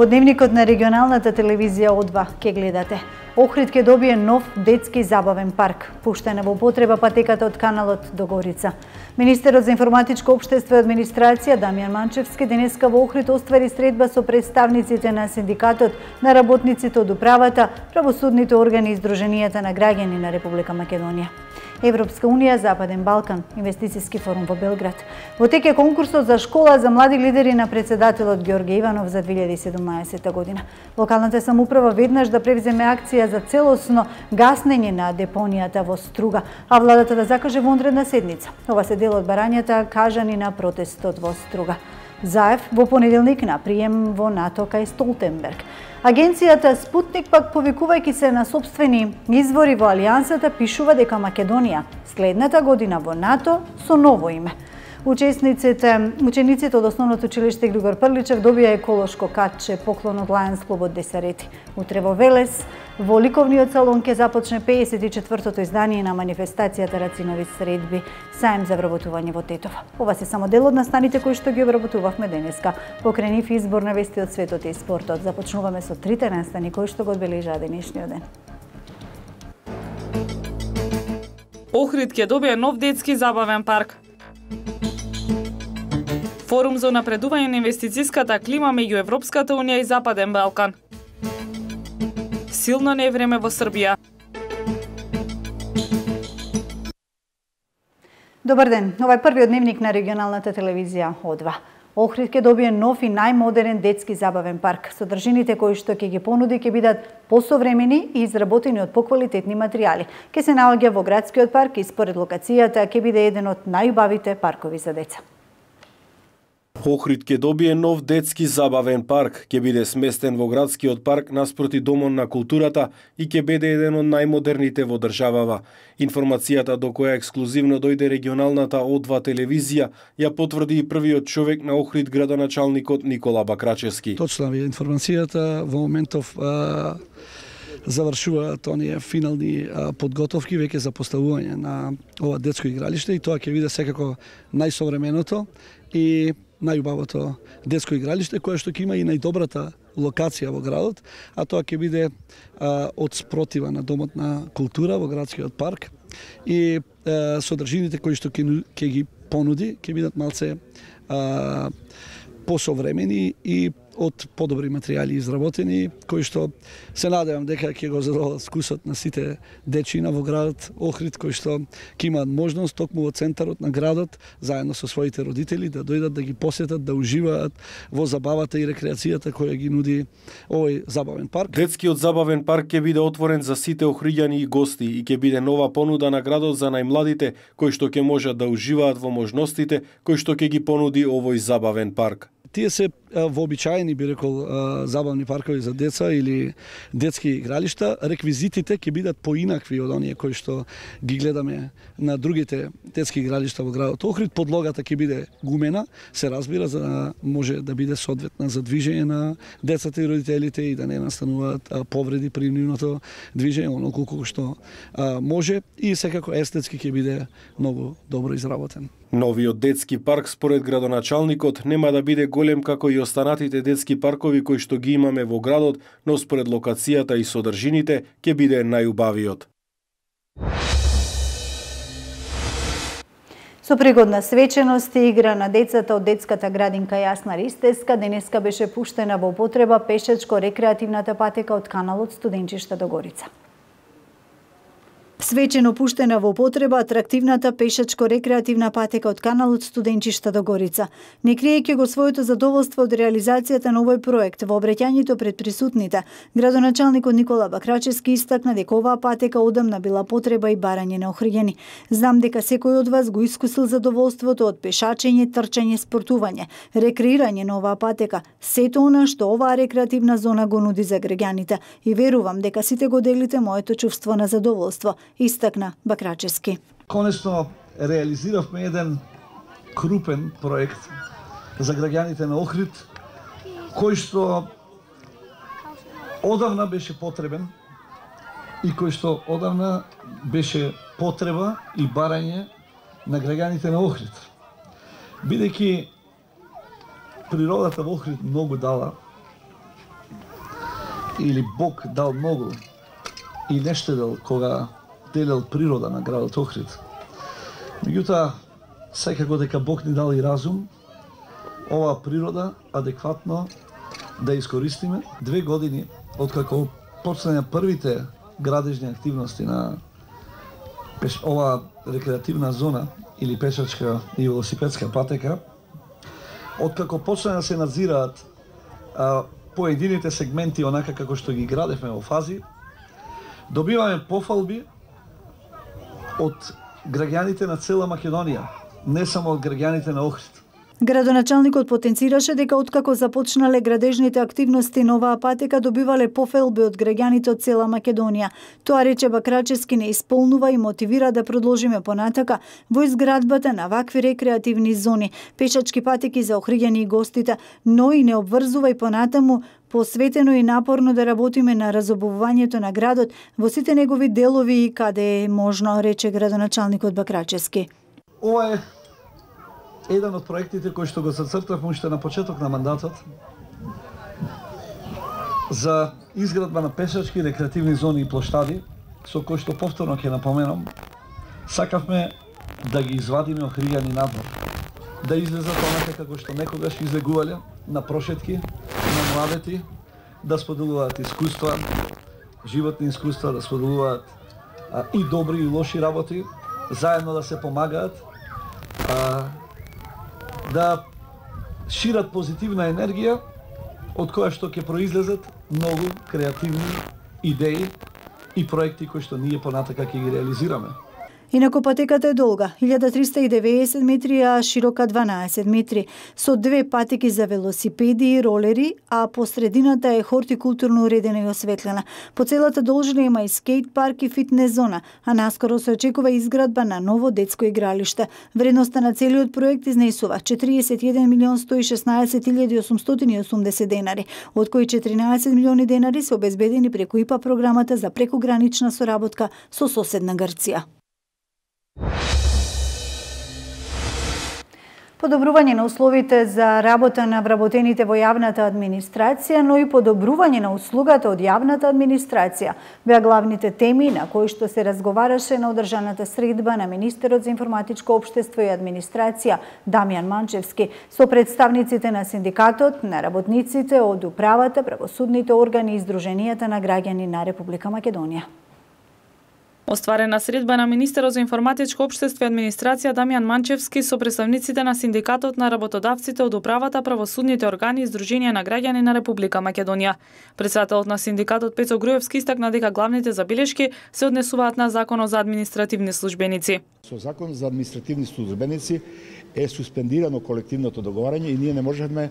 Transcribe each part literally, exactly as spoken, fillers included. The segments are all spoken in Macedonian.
Во дневникот на регионалната телевизија О два ке гледате. Охрид ќе добие нов детски забавен парк. Пуштена во употреба патеката од каналот до Горица. Министерот за информатичко општество и администрација Дамјан Манчевски денеска во Охрид оствари средба со представниците на синдикатот, на работниците од управата, правосудните органи и издруженијата на граѓани на Република Македонија. Европска унија, Западен Балкан, инвестициски форум во Белград. Во тек е конкурсот за школа за млади лидери на председателот Ѓорѓе Иванов за две илјади и седумнаесетта година. Локалната самоуправа веднаш да превземе акција за целосно гаснење на депонијата во Струга, а владата да закаже вонредна седница. Ова се дел од барањата кажани на протестот во Струга. Заев во понеделник на прием во НАТО кај Столтенберг. Агенцијата Спутник пак повикувајќи се на сопствени извори во Алијансата пишува дека Македонија следната година во НАТО со ново име. Учесниците, учениците од основното училиште Григор Прличев добија еколошко катче поклон од Лајонс клубот Десарети. Утре во Велес, во ликовниот салон ќе започне пеесет и четвртото издание на манифестацијата Рацинови средби, саем за вработување во Тетово. Ова се само дел од настаните кои што ги обработувавме денеска. Покрај нив избор на вести од светот и спортот. Започнуваме со трите настани кои што го одбележаа денешниот ден. Охрид ќе добие нов детски забавен парк. Форум за напредување на инвестициската клима меѓу Европската унија и Западен Балкан. Силно невреме во Србија. Добар ден, ова е првиот дневник на регионалната телевизија О два. Охрид ќе добие нов и најмодерен детски забавен парк. Содржините кои што ќе ги понуди ќе бидат посовремени и изработени од поквалитетни материјали. Ќе се наоѓа во градскиот парк и според локацијата ќе биде еден од најубавите паркови за деца. Охрид ќе добие нов детски забавен парк, ќе биде сместен во градскиот парк наспроти Домот на културата и ќе биде еден од најмодерните во државава. Информацијата до која ексклузивно дојде регионалната О два телевизија ја потврди и првиот човек на Охрид, градоначалникот Никола Бакрачевски. Точна ви информацијата во моментов а... завршуваат оние финални а, подготовки веќе за поставување на ова детско игралиште и тоа ќе биде секако најсовременото и најубавото детско игралиште кое што ќе има и најдобрата локација во градот, а тоа ќе биде а, од спротива на Домот на култура во градскиот парк и а, содржините кои што ќе ги понуди ќе бидат малце а, посовремени и од подобри материјали изработени, кои што се надевам дека ќе го задоволат вкусот на сите дечина во градот Охрид, кои што ќе имаат можност токму во центарот на градот, заедно со своите родители, да дојдат да ги посетат, да уживаат во забавата и рекреацијата која ги нуди овој забавен парк. Детскиот забавен парк ќе биде отворен за сите охриѓани и гости и ќе биде нова понуда на градот за најмладите, кои што ќе можат да уживаат во можностите кои што ќе ги понуди овој забавен парк. Тие се вообичаени, би рекол, забавни паркови за деца или детски игралишта. Реквизитите ќе бидат поинакви од оние кои што ги гледаме на другите детски игралишта во градот Охрид. Подлогата ќе биде гумена, се разбира, за да може да биде соодветна за движење на децата и родителите и да не настануваат повреди при нивното движење, онолку колку што може, и секако естетски ќе биде многу добро изработен. Новиот детски парк, според градоначалникот, нема да биде голем како и останатите детски паркови кои што ги имаме во градот, но според локацијата и содржините ќе биде најубавиот. Со пригодна свеченост и игра на децата од детската градинка Јасна Ристеска, денеска беше пуштена во употреба пешачко-рекреативната патека од каналот Студенчишта до Горица. Свечено пуштена во употреба атрактивната пешачко-рекреативна патека од каналот Студенчишта до Горица. Не криејќи го своето задоволство од реализацијата на овој проект, во обраќањето пред присутните, градоначалникот Никола Бакрачевски истакна дека оваа патека одамна била потреба и барање на охриѓани. Знам дека секој од вас го искусил задоволството од пешачење, трчање, спортување, рекреирање на оваа патека, сето она што оваа рекреативна зона го нуди за граѓаните, и верувам дека сите го делите моето чувство на задоволство, истакна Бакрачевски. Конечно реализиравме еден крупен проект за граѓаните на Охрид, кој што одавна беше потребен и кој што одавна беше потреба и барање на граѓаните на Охрид. Бидејќи природата во Охрид многу дала или Бог дал многу и не штедел кога делел природа на градот Охрид. Меѓутоа, секако дека Бог ни дал и разум, оваа природа адекватно да искористиме. Две години откако почнеја првите градежни активности на оваа рекреативна зона или пешачка и велосипедска патека, откако почна да се надзираат а, поедините сегменти онака како што ги градевме во фази, добиваме пофалби од граѓаните на цела Македонија, не само од граѓаните на Охрид. Градоначалникот потенцираше дека откако започнале градежните активности на оваа патека добивале пофалби од граѓаните од цела Македонија. Тоа рече Бакрачевски не исполнува и мотивира да продолжиме понатака во изградбата на вакви рекреативни зони, пешачки патеки за охриѓани и гостите, но и не обврзува и понатаму посветено и напорно да работиме на разобувувањето на градот во сите негови делови и каде е можно, рече градоначалникот Бакрачевски. Ова е еден од проектите кои што го зацртавме уште на почеток на мандатот за изградба на пешачки рекреативни зони и плоштади, со кои што повторно ќе напоменам, сакавме да ги извадиме охриѓани надвор, да излезат онака како што некогаш излегувале на прошетки, на младети, да споделуваат искуства, животни искуства, да споделуваат а, и добри и лоши работи, заедно да се помагаат, а, да шират позитивна енергија од која што ќе произлезат многу креативни идеи и проекти кои што ние понатака ќе ги реализираме. Инаку патеката е долга, илјада триста и деветдесет метри, а широка дванаесет метри, со две патеки за велосипеди и ролери, а по средината е хортикултурно уредена и осветлена. По целата должина има и скейт парк и фитнес зона, а наскоро се очекува изградба на ново детско игралиште. Вредноста на целиот проект изнесува четириесет и еден милион сто и шеснаесет илјади осумстотини и осумдесет денари, од кои четиринаесет милиони денари се обезбедени преку ИПА програмата за прекугранична соработка со соседна Грција. Подобрување на условите за работа на вработените во јавната администрација, но и подобрување на услугата од јавната администрација беа главните теми на кои што се разговараше на одржаната средба на министерот за информатичко општество и администрација Дамјан Манчевски со представниците на синдикатот, на работниците од управата, правосудните органи и издруженијата на граѓани на Република Македонија. Остварена средба на министерот за информатичко општество и администрација Дамјан Манчевски со представниците на синдикатот, на работодавците од управата, правосудните органи и издруженија на граѓани на Република Македонија. Председателот на синдикатот Пецо Груевски истакна дека главните забелешки се однесуваат на Законот за административни службеници. Со Закон за административни службеници е суспендирано колективното договарање и ние не можеме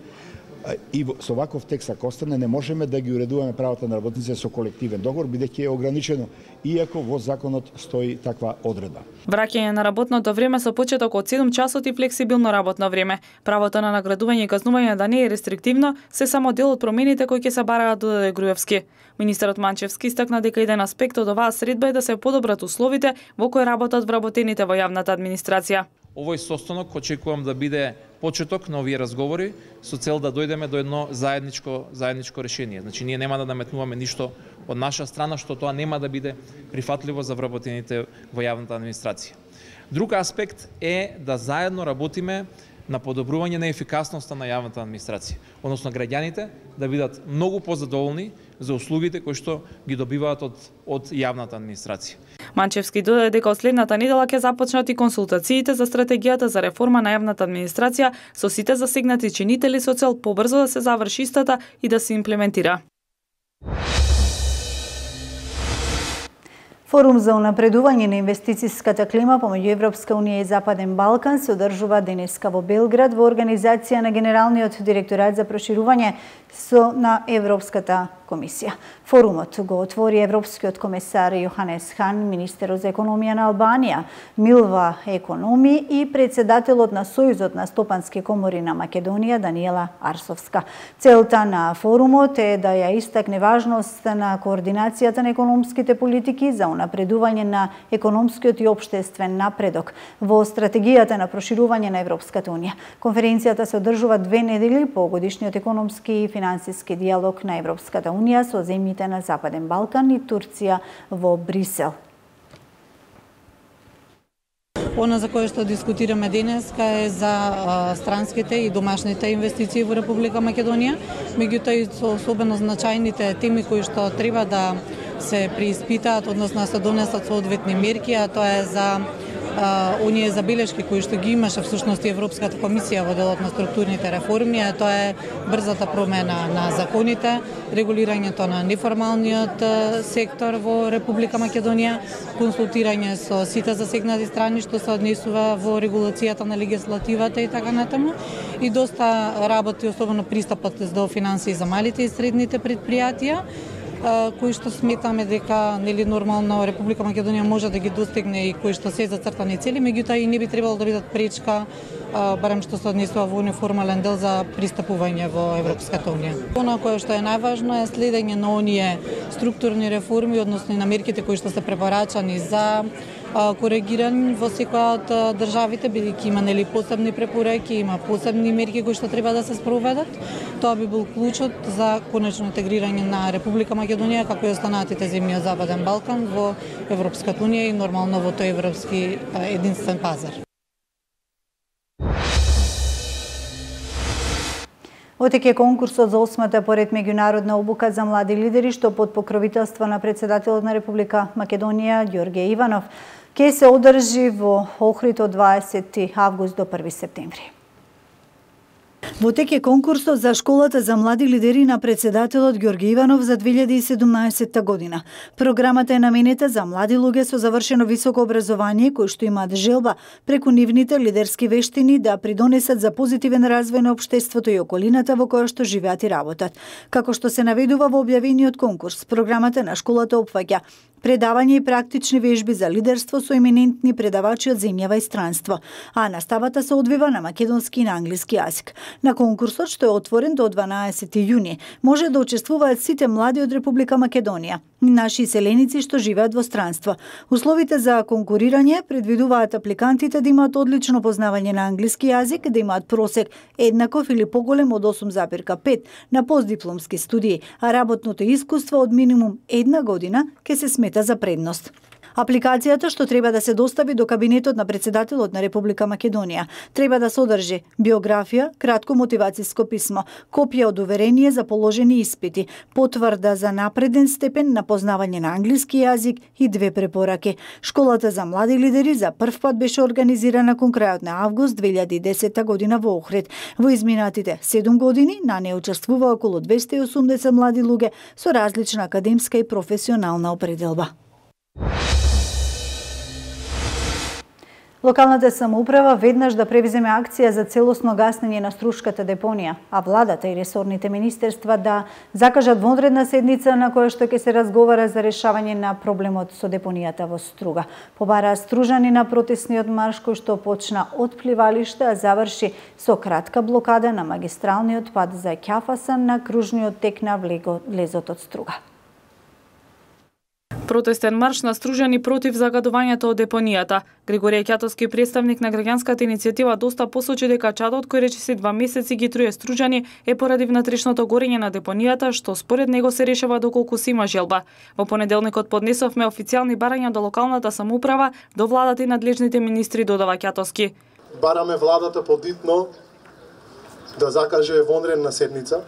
и со ваков текст ако остане не можеме да ги уредуваме правата на работниците со колективен договор, бидејќи е ограничено, иако во законот стои таква одредба. Враќање на работното време со почеток од седум часот и флексибилно работно време. Правото на наградување и казнување да не е рестриктивно, се само дел од промените кои ќе се бараат, додаде Груевски. Министерот Манчевски истакна дека еден аспект од оваа средба е да се подобрат условите во кои работат вработените во јавната администрација. Овој состанок очекувам да биде почеток на овие разговори со цел да дојдеме до едно заедничко заедничко решение. Значи ние нема да наметнуваме ништо од наша страна што тоа нема да биде прифатливо за вработените во јавната администрација. Друг аспект е да заедно работиме на подобрување на ефикасноста на јавната администрација, односно граѓаните да бидат многу позадоволни за услугите кои што ги добиваат од од јавната администрација. Манчевски додаде дека од следната недела ќе започнат и консултациите за стратегијата за реформа на јавната администрација со сите засегнати чинители со цел побрзо да се заврши истата и да се имплементира. Форум за унапредување на инвестицијската клима помеѓу Европска унија и Западен Балкан се одржува денеска во Белград во организација на Генералниот директорат за проширување со на Европската комисија. Форумот го отвори европскиот комесар Јоханес Хан, министерот за економија на Албанија, Милва Економи и председателот на Сојузот на стопански комори на Македонија Даниела Арсовска. Целта на форумот е да ја истакне важност на координацијата на економските политики за унапредување на економскиот и општествен напредок во стратегијата на проширување на Европската унија. Конференцијата се одржува две недели по годишниот економски и финансиски диалог на Европската унија Македонија со земјите на Западен Балкан и Турција во Брисел. Она за кое што дискутираме денеска е за а, странските и домашните инвестиции во Република Македонија, меѓутоа и со особено значајните теми кои што треба да се преиспитаат, односно се донесат соодветни мерки, а тоа е за а, оние забелешки кои што ги имаше всушност и Европската комисија во делот на структурните реформи, а тоа е брзата промена на законите, регулирањето на неформалниот сектор во Република Македонија, консултирање со сите засегнати страни што се однесува во регулацијата на легислативата и така натаму, и доста работи, особено пристапот до финансии за малите и средните предпријатија, кои што сметаме дека нели нормално Република Македонија може да ги достигне и кои што се зацртани цели, меѓутоа и не би требало да бидат пречка, барем што се однесува во неформален дел за пристапување во Европската унија. Она кое што е најважно е следење на оние структурни реформи, односно и на мерките кои што се препорачани за коригирање во секоја од државите, бидејќи има нели посебни препораки, има посебни мерки кои што треба да се спроведат. Тоа би бил клучот за конечно интегрирање на Република Македонија како и останатите земји од Западен Балкан во Европската унија и нормално во тој европски единствен пазар. Отеќе конкурсот за осмата поред меѓународна обука за млади лидери, што под покровителство на председателот на Република Македонија Ѓорѓе Иванов ќе се одржи во Охрид од дваесети август до први септември. Во тек е конкурсот за школата за млади лидери на председателот Ѓорѓе Иванов за две илјади и седумнаесетта година. Програмата е наменета за млади луѓе со завршено високо образование кои што имаат желба преку нивните лидерски вештини да придонесат за позитивен развој на општеството и околината во која што живеат и работат. Како што се наведува во објавениот конкурс, програмата на школата опфаќа предавање и практични вежби за лидерство со еминентни предавачи од земјава и странство, а наставата се одвива на македонски и на англиски јазик. На конкурсот, што е отворен до дванаесети јуни, може да учествуваат сите млади од Република Македонија, наши иселеници што живеат во странство. Условите за конкурирање предвидуваат апликантите да имаат одлично познавање на англиски јазик, да имаат просек еднаков или поголем од осум запирка пет на постдипломски студии, а работното искуство од минимум една година ќе се смета за предност. Апликацијата што треба да се достави до кабинетот на председателот на Република Македонија треба да содржи биографија, кратко мотивацијско писмо, копија од уверение за положени испити, потврда за напреден степен на познавање на англиски јазик и две препораки. Школата за млади лидери за прв пат беше организирана кон крајот на август две илјади и десетта година во Охрид. Во изминатите седум години на неа учествува околу двесте и осумдесет млади луѓе со различна академска и професионална определба. Локалната самоуправа веднаш да превземе акција за целосно гаснење на Струшката депонија, а владата и ресорните министерства да закажат вонредна седница на која што ќе се разговара за решавање на проблемот со депонијата во Струга. Побараа стружани на протесниот марш кој што почна од пливалиште, а заврши со кратка блокада на магистралниот пат за Ќафасан на кружниот тек на влезот од Струга. Протестен марш на стружани против загадувањето од депонијата. Григорија Ќатовски, представник на граѓанската иницијатива, доста посочи дека чадот кој речиси два месеци ги труе стружани е поради внатрешното горење на депонијата, што според него се решава доколку се има желба. Во понеделникот поднесовме официјални барања до локалната самоуправа, до владата и надлежните министри, додава Ќатовски. Бараме владата подитно да закаже вонредна седница,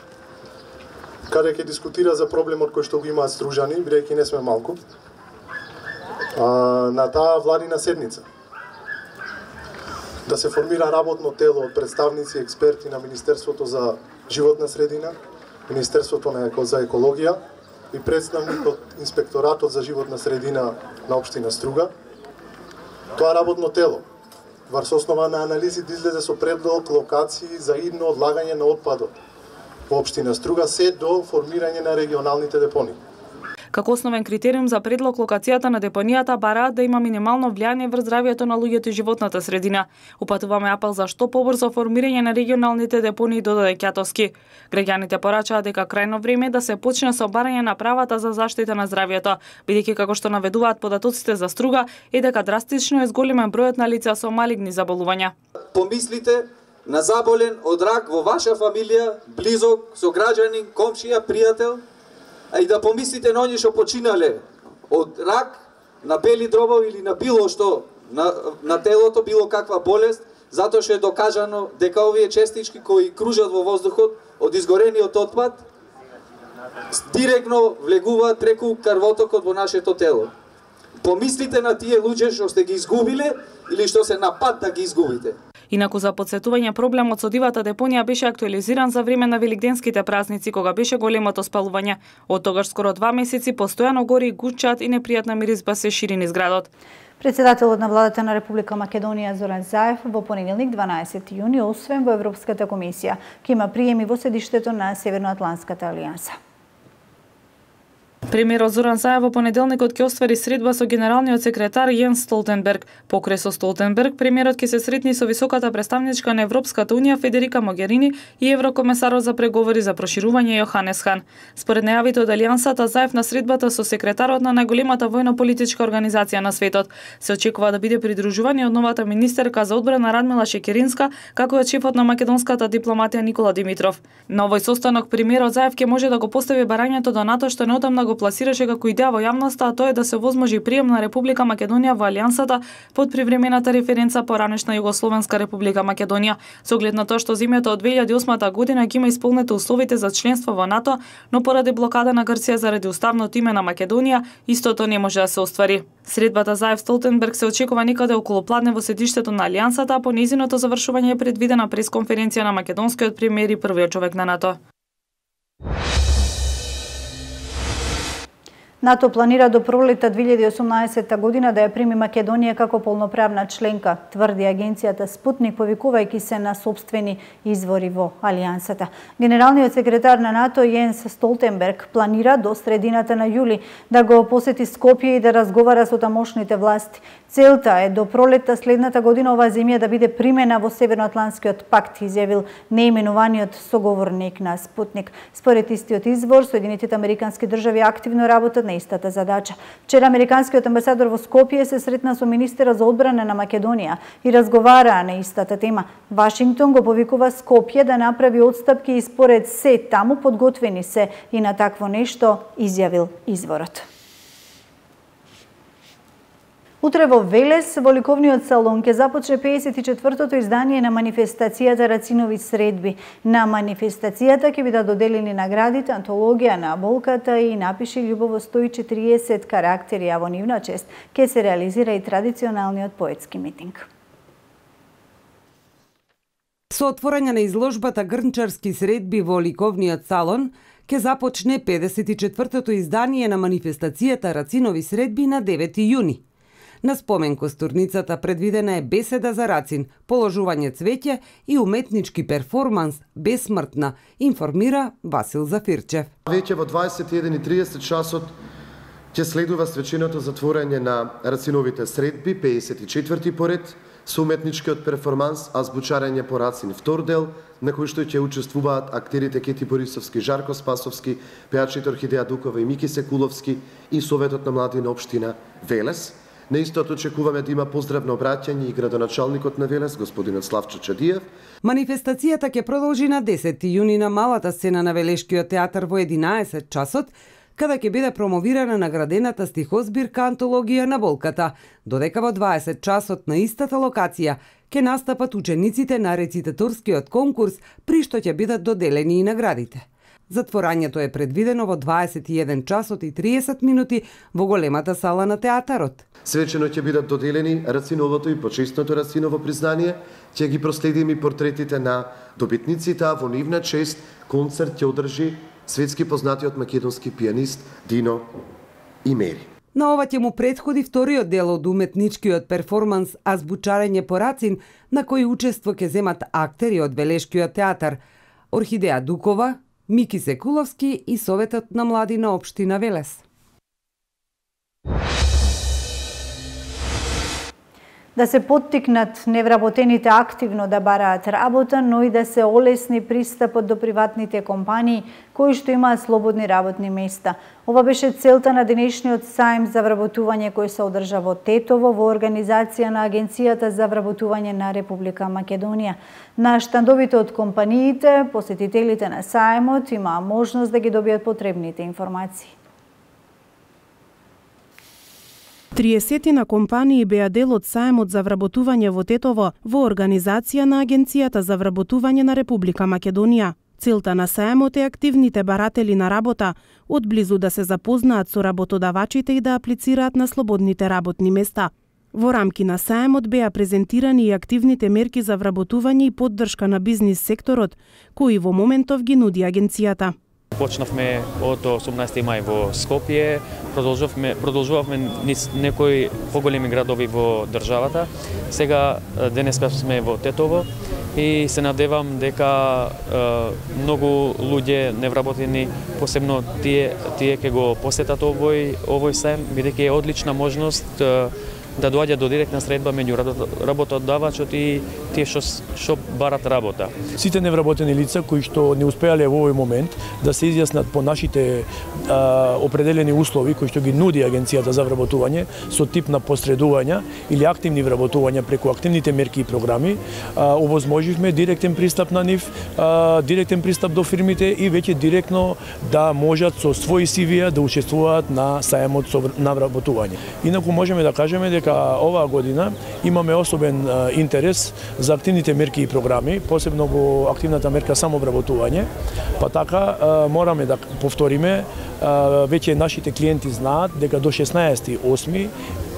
каде ќе дискутира за проблемот кој што го имаат стружани, бидејќи не сме малку, а, на таа владина седница. Да се формира работно тело од представници и експерти на Министерството за животна средина, Министерството на еко, за екологија и представник од Инспекторатот за животна средина на општина Струга. Тоа работно тело, врз основа на анализи, да излезе со предлог локации за идно одлагање на отпадот во општина Струга, се до формирање на регионалните депонии. Како основен критериум за предлог локацијата на депонијата бараат да има минимално влијание врз здравјето на луѓето и животната средина. Упатуваме апел за што побрзо формирање на регионалните депонии, додаде Ќатовски. Граѓаните порачаат дека крајно време да се почне со барање на правата за заштита на здравјето, бидејќи како што наведуваат податоците за Струга е дека драстично е зголемен бројот на лица со малигни заболувања. Помислите на заболен од рак во ваша фамилија, близок, сограѓанин, комшија, пријател, а и да помислите на оние што починале од рак, на бели дробови или на било што на, на телото, било каква болест, затоа што е докажано дека овие честички кои кружат во воздухот од изгорениот отпад директно влегуваат преку крвотокот во нашето тело. Помислите на тие луѓе што сте ги изгубиле или што се на пат да ги изгубите. Инаку за потсетување, проблемот со дивата депонија беше актуализиран за време на великденските празници, кога беше големото спалување. Од тогаш скоро два месеци постојано гори гучат и непријатна миризба се шири низ градот. Председателот на владата на Република Македонија Зоран Заев во понеделник дванаесети јуни освен во Европската комисија, ќе има приеми во седиштето на Северноатлантската алијанса. Премиерот Зоран Заев во понеделникот ќе оствари средба со генералниот секретар Јенс Столтенберг. Покрај со Столтенберг, премиерот ќе се сретни со високата представничка на Европската унија Федерика Могерини и еврокомесарот за преговори за проширување Јоханес Хан. Според најавите од алијансата, Заев на средбата со секретарот на најголемата војно-политичка организација на светот се очекува да биде придружуван и од новата министерка за одбрана Радмила Шекеринска, како и од шефот на македонската дипломатија Никола Димитров. На овој состанок премиерот Заев ќе може да го постави барањето до НАТО што неодамна го пласираше како идеја во јавноста, а тоа е да се возможи прием на Република Македонија во алијансата под привремената референца поранешна Југословенска Република Македонија. Со оглед на тоа што земјата од две илјади и осма година ќе има исполнети условите за членство во НАТО, но поради блокада на Грција заради уставното име на Македонија, истото не може да се оствари. Средбата Заев Столтенберг се очекува некаде околу пладне во седиштето на алијансата, а по нејзиното завршување е предвидена пресконференција на македонскиот премиер и првиот човек на НАТО. НАТО планира до пролета две илјади и осумнаесетта година да ја прими Македонија како полноправна членка, тврди агенцијата Спутник, повикувајќи се на сопствени извори во алијансата. Генералниот секретар на НАТО Јенс Столтенберг планира до средината на јули да го посети Скопје и да разговара со тамошните власти. Целта е до пролетта следната година оваа земја да биде примена во Северноатлантскиот пакт, изјавил неименуваниот соговорник на Спутник. Според истиот извор, Соединетите американски држави активно работат на истата задача. Вчера американскиот амбасадор во Скопје се сретна со министерот за одбрана на Македонија и разговараа на истата тема. Вашингтон го повикува Скопје да направи отстапки и според се таму подготвени се и на такво нешто, изјавил изворот. Утре во Велес, во ликовниот салон, ќе започне пеесет и четвртото издание на манифестацијата Рацинови средби. На манифестацијата ќе бидат доделени наградите антологија на болката и напиши љубово сто и четириесет карактери, а во нивна чест ќе се реализира и традиционалниот поетски митинг. Со отворање на изложбата Грнчарски средби во ликовниот салон, ќе започне педесет и четвртото издание на манифестацијата Рацинови средби на девети јуни. На спомен костурницата предвидена е беседа за Рацин, положување цвеќе и уметнички перформанс Бесмртна, информира Васил Зафирчев. Веќе во дваесет и еден и тридесет часот ќе следува свеченото затворање на Рациновите средби, пеесет и четврти поред, со уметничкиот перформанс Азбучарење по Рацин втор дел, на кој што ќе учествуваат актерите Кети Борисовски, Жарко Спасовски, пејачите Орхидеја Дукова и Мики Секуловски и Советот на млади на општина Велес. На истото очекуваме да има поздравно обраќање и градоначалникот на Велес, господинот Славчо Чадиев. Манифестацијата ќе продолжи на десети јуни на малата сцена на Велешкиот театар во единаесет часот, када ќе биде промовирана наградената стихозбирка Антологија на болката, додека во дваесет часот на истата локација ќе настапат учениците на рецитаторскиот конкурс, при што ќе бидат доделени и наградите. Затворањето е предвидено во дваесет и еден часот и триесет минути во големата сала на театарот. Свечено ќе бидат доделени Рациновото и почесното Рациново признание, ќе ги проследим и портретите на добитниците, а во нивна чест концерт ќе одржи светски познатиот македонски пианист Дино Имери. На ова ќе му претходи вториот дел од уметничкиот перформанс Азбучарење по Рацин, на кој учество ќе земат актери од Велешкиот театар Орхидеја Дукова, Мики Секуловски и Советот на млади на општина Велес. Да се поттикнат невработените активно да бараат работа, но и да се олесни пристапот до приватните компании кои што имаат слободни работни места. Ова беше целта на денешниот сајм за вработување кој се одржа во Тетово во организација на Агенцијата за вработување на Република Македонија. На штандовите од компаниите, посетителите на сајмот имаа можност да ги добијат потребните информации. триесет компании беа дел од сајмот за вработување во Тетово во организација на Агенцијата за вработување на Република Македонија. Целта на сајмот е активните баратели на работа одблизу да се запознаат со работодавачите и да аплицираат на слободните работни места. Во рамки на сајмот беа презентирани и активните мерки за вработување и поддршка на бизнис секторот, кои во моментов ги нуди агенцијата. Почнавме од осумнаесети мај во Скопје, продолжувавме, продолжувавме низ некои поголеми градови во државата. Сега денеска сме во Тетово и се надевам дека е, многу луѓе невработени, посебно тие тие ќе го посетат овој овој сајм, бидејќи е одлична можност е, да доаѓа до директна средба меѓу работодавачот и тие што што барат работа. Сите невработени лица кои што не успеале во овој момент да се изјаснат по нашите а, определени услови кои што ги нуди Агенцијата за вработување со тип на посредувања или активни вработувања преку активните мерки и програми, а, овозможивме директен пристап на нив, а, директен пристап до фирмите и веќе директно да можат со своји си ви да учествуваат на сајмот на вработување. Инаку можеме да кажеме дека оваа година имаме особен а, интерес за активните мерки и програми, посебно во активната мерка самовработување, па така а, мораме да повториме, а, веќе нашите клиенти знаат дека до шеснаесети осми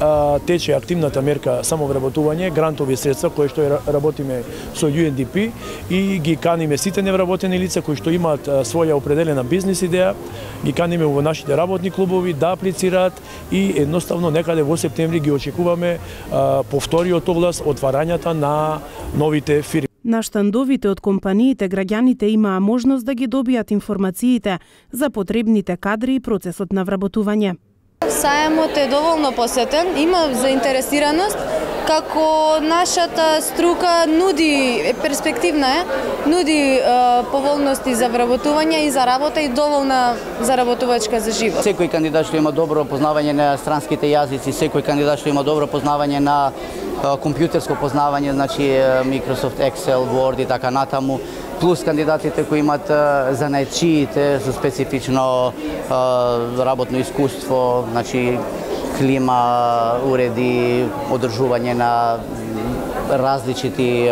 а, тече активната мерка самовработување, грантови средства кои што работиме со Ю Ен Ди Пи и ги каниме сите невработени лица кои што имаат а, своја определена бизнис идеја, ги каниме во нашите работни клубови да аплицираат и едноставно некаде во септември ги очекуваме а, повториот оглас отварањата на новите фирми. На штандовите од компаниите граѓаните имаа можност да ги добијат информациите за потребните кадри и процесот на вработување. Сајмот е доволно посетен, има заинтересираност, како нашата струка нуди, перспективна е, нуди е, поволности за вработување и за работа и доволна заработувачка за живот. Секој кандидат што има добро познавање на странските јазици, секој кандидат што има добро познавање на компјутерско познавање, значи Microsoft Excel, Word и така натаму, плюс кандидатите кои имаат занаетчиите со специфично работно искуство, значи клима, уреди, одржување на различити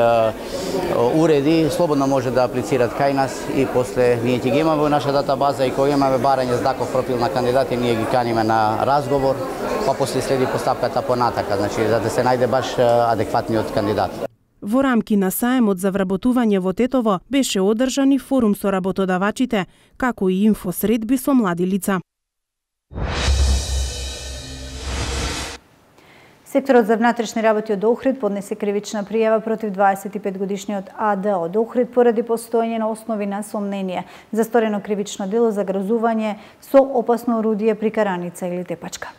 уреди, слободно може да аплицираат кај нас и после ние ќе ги имаме во наша датабаза и кога имаме барање за таков профил на кандидати, ние ги каниме на разговор, па после следи постапката понатака, значи за да се најде баш адекватниот кандидат. Во рамки на сајмот за вработување во Тетово беше одржан и форум со работодавачите, како и инфосредби со млади лица. Секторот за внатрешни работи од Охрид поднесе кривична пријава против дваесет и пет годишниот А Д од Охрид поради постоење на основи на сомнение за сторено кривично дело за грозување со опасно орудие при караница или тепачка.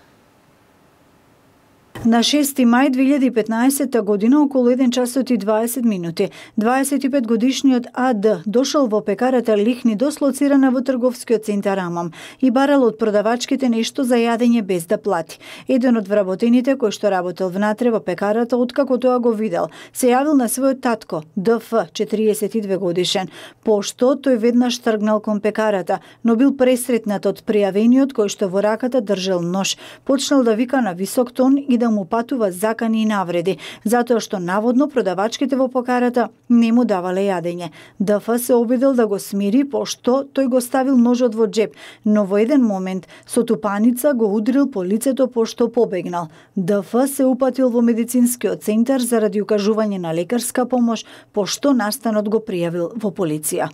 На шести мај две илјади и петнаесетта година околу еден часот и дваесет минути, дваесет и пет годишниот А Д дошол во пекарата Лихни, дослоцирана во трговскиот центар Амам, и барал од продавачките нешто за јадење без да плати. Еден од вработените кој што работел внатре во пекарата, откако тоа го видел, се јавил на својот татко, Д Ф, четириесет и две годишен, пошто тој веднаш тргнал кон пекарата, но бил пресретнат од пријавениот кој што во раката држел нож, почнал да вика на висок тон и да му патува закани и навреди, затоа што наводно продавачките во пекарата не му давале јадење. Д Ф се обидел да го смири, пошто тој го ставил ножот во джеб, но во еден момент со тупаница го удрил по лицето пошто побегнал. Д Ф се упатил во медицинскиот центар заради укажување на лекарска помош, пошто настанот го пријавил во полиција.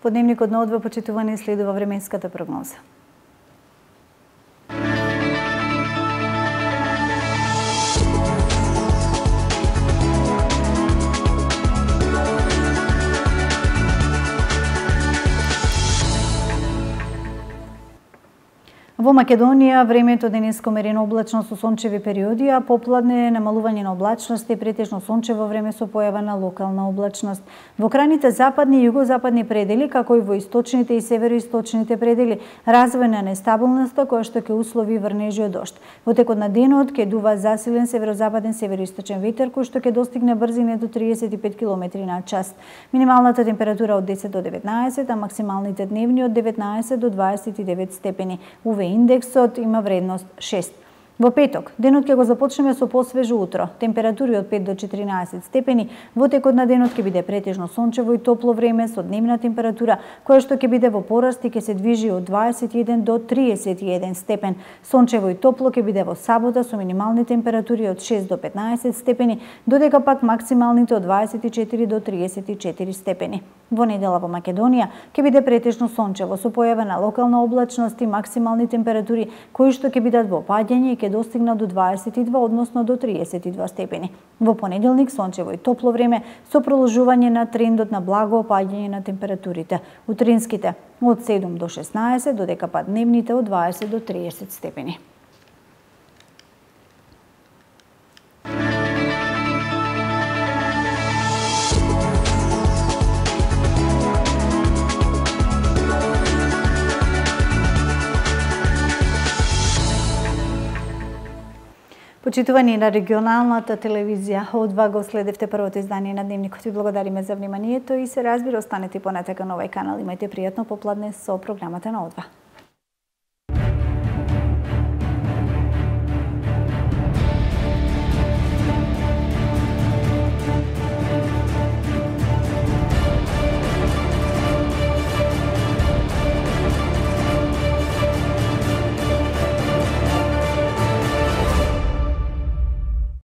По дневникот на одва, почитувани, следува временската прогноза. Во Македонија времето денеска мерено облачно со сончеви периоди, а попладне намалување на облачност и претежно сончево време со појава на локална облачност. Во крајните западни и југозападни предели, како и во источните и североисточните предели, развој на нестабилноста која што ќе услови врнежи од дожд. Во текот на денот ќе дува засилен северозападен североисточен ветер кој што ќе достигне брзина до триесет и пет километри на час. Минималната температура од десет до деветнаесет, а максималните дневни од деветнаесет до дваесет и девет степени. У ве индексот има вредност шест. Во петок, денот ќе го започнеме со посвежо утро. Температури од пет до четиринаесет степени. Во текот на денот ќе биде претежно сончево и топло време со дневна температура која што ќе биде во пораст и ќе се движи од дваесет и еден до триесет и еден степен. Сончево и топло ќе биде во сабота со минимални температури од шест до петнаесет степени, додека пак максималните од дваесет и четири до триесет и четири степени. Во недела во Македонија ќе биде претежно сончево со појава на локална облачност и максимални температури кои што ќе бидат во паѓање и ќе достигнат до дваесет и два, односно до триесет и два степени. Во понеделник сончево и топло време со продолжување на трендот на благо опаѓање на температурите. Утринските од седум до шеснаесет, додека пак дневните од дваесет до триесет степени. Почитувани на регионалната телевизија, од ва го следевте првото издание на Дневникот. Ви благодариме за вниманието и се разбира, останете понатака на овај канал. Имајте пријатно попладне со програмата на Од ва.